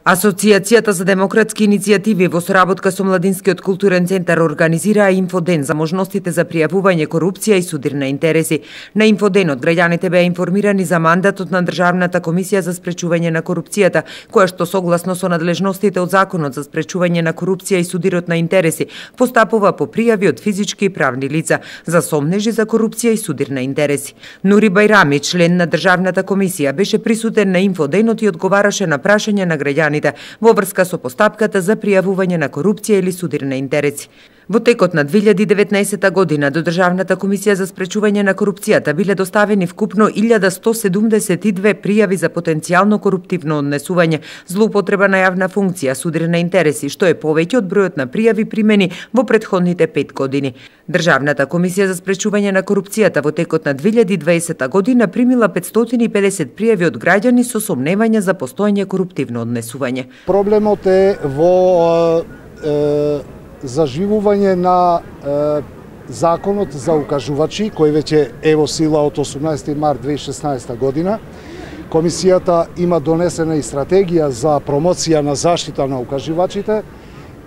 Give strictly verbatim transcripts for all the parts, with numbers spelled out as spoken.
Асоцијацијата за демократски иницијативи во соработка со Младинскиот културен центар организираа инфоден за можностите за пријавување корупција и судир на интереси. На инфоденот граѓаните беа информирани за мандатот на Државната комисија за спречување на корупцијата, која што согласно со надлежностите од Законот за спречување на корупција и судирот на интереси постапува по пријави од физички и правни лица за сомнежи за корупција и судир на интереси. Нури Бајрами, член на Државната комисија, беше присутен на инфоденот и одговараше на прашања на граѓаните во врска со постапката за пријавување на корупција или судир на интереси. Во текот на две илјади и деветнаесетта година до Државната комисија за спречување на корупцијата биле доставени вкупно илјада сто седумдесет и две пријави за потенцијално коруптивно однесување, злоупотреба на јавна функција, судир на интереси, што е повеќе од бројот на пријави примени во претходните пет години. Државната комисија за спречување на корупцијата во текот на две илјади и дваесетта година примила петстотини и педесет пријави од граѓани со сомневање за постоење коруптивно однесување. Проблемот е во е, заживување на е, законот за укажувачи, кој веќе е во сила од осумнаесети март две илјади и шеснаесетта година. Комисијата има донесена и стратегија за промоција на заштита на укажувачите.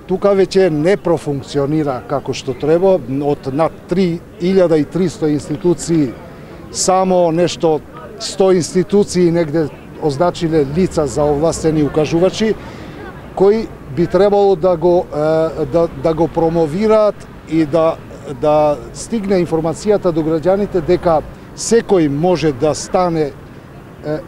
Тука веќе не профункционира како што треба. Од над три илјади и триста институции, само нешто сто институции негде означиле лица за овластени укажувачи, кои би требало да го да, да го промовираат и да да стигне информацијата до граѓаните дека секој може да стане е,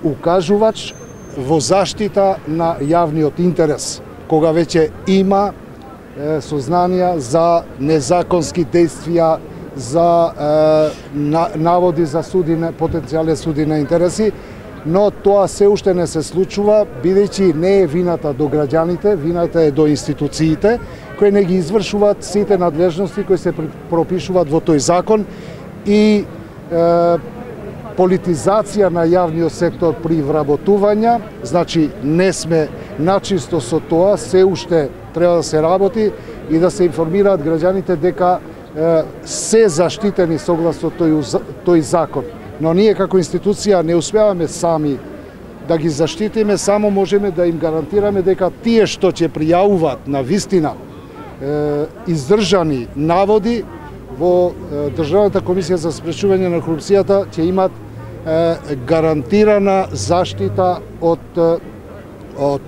укажувач во заштита на јавниот интерес, кога веќе има е, сознанија за незаконски действија, за е, на, наводи за судине, потенцијални суди на интереси, но тоа се уште не се случува, бидејќи не е вината до граѓаните, вината е до институциите, кои не ги извршуваат сите надлежности кои се пропишуваат во тој закон и е, политизација на јавниот сектор при вработување, значи не сме начисто со тоа, се уште треба да се работи и да се информираат граѓаните дека е, се заштитени согласно тој, тој закон. Но ние како институција не успеваме сами да ги заштитиме, само можеме да им гарантираме дека тие што ќе пријавуваат на вистина е, издржани наводи во е, Државната комисија за спречување на корупцијата ќе имат е, гарантирана заштита од од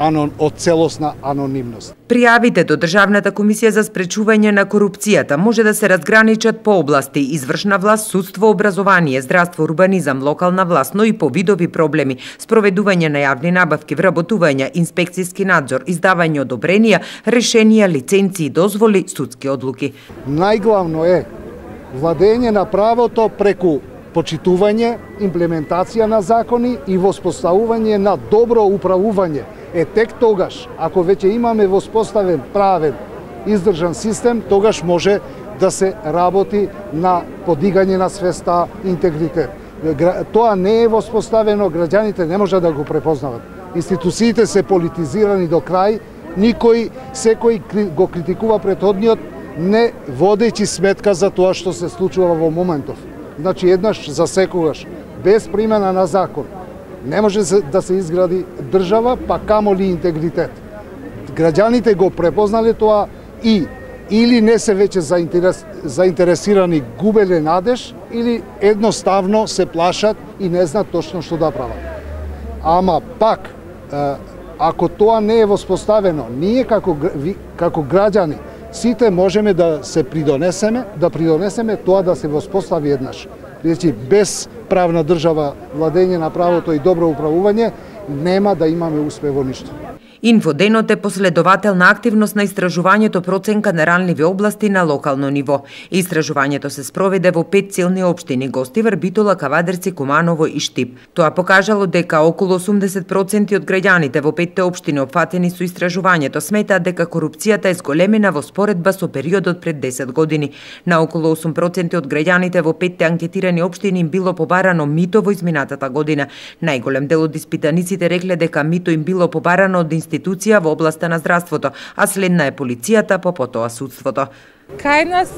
анон од целосна анонимност. Пријавите до Државната комисија за спречување на корупцијата може да се разграничат по области: извршна власт, судство, образование, здравство, урбанизам, локална власт, но и по видови проблеми: спроведување на јавни набавки, вработување, инспекцијски надзор, издавање одобренија, решенија, лиценци и дозволи, судски одлуки. Најглавно е владење на правото преку почитување, имплементација на закони и воспоставување на добро управување. Е тек тогаш, ако веќе имаме воспоставен правен издржан систем, тогаш може да се работи на подигање на свеста, интегритет. Тоа не е воспоставено, граѓаните не може да го препознават. Институциите се политизирани до крај, никој, секој го критикува претходниот, не водејќи сметка за тоа што се случува во моментов. Значи, еднаш за секогаш, без примена на закон, не може да се изгради држава, па камоли интегритет. Граѓаните го препознале тоа и или не се веќе заинтерес, заинтересирани, губеле надеж, или едноставно се плашат и не знаат точно што да прават. Ама пак, ако тоа не е воспоставено, ние како, како граѓани, сите можеме да се придонесеме, да придонесеме тоа да се воспостави еднаш. Бидејќи без правна држава, владење на правото и добро управување, нема да имаме успех во ништо. Инфоденот е последователна активност на истражувањето проценка на ранливи области на локално ниво. Истражувањето се спроведе во пет силни општини: Гостивар, Битола, Кавадарци, Куманово и Штип. Тоа покажало дека околу осумдесет проценти од граѓаните во петте општини опфатени со истражувањето сметаат дека корупцијата е зголемена во споредба со периодот пред десет години. На околу осум проценти од граѓаните во петте анкетирани општини им било побарано мито во изминатата година. Најголем дел од испитаниците рекле дека мито им било побарано од институција во областа на здравството, а следна е полицијата, по потоа судството. Кај нас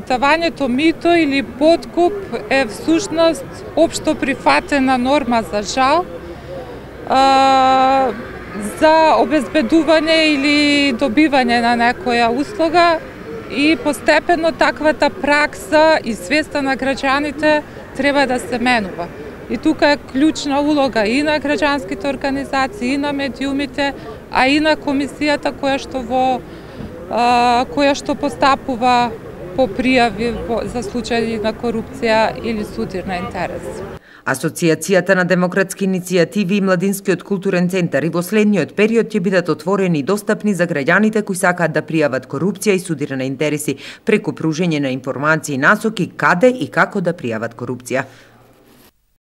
давањето мито или подкуп е всушност општо прифатена норма за жал. за обезбедување или добивање на некоја услуга и постепено таквата пракса и свеста на граѓаните треба да се менува. И тука е клучна улога и на граѓанските организации, и на медиумите, а и на комисијата која што во а, која што постапува по пријави за случаи на корупција или судир на интерес. Асоцијацијата на демократски иницијативи и Младинскиот културен центар и во следниот период ќе бидат отворени и достапни за граѓаните кои сакаат да пријават корупција и судир на интереси преку пружење на информации и насоки каде и како да пријават корупција.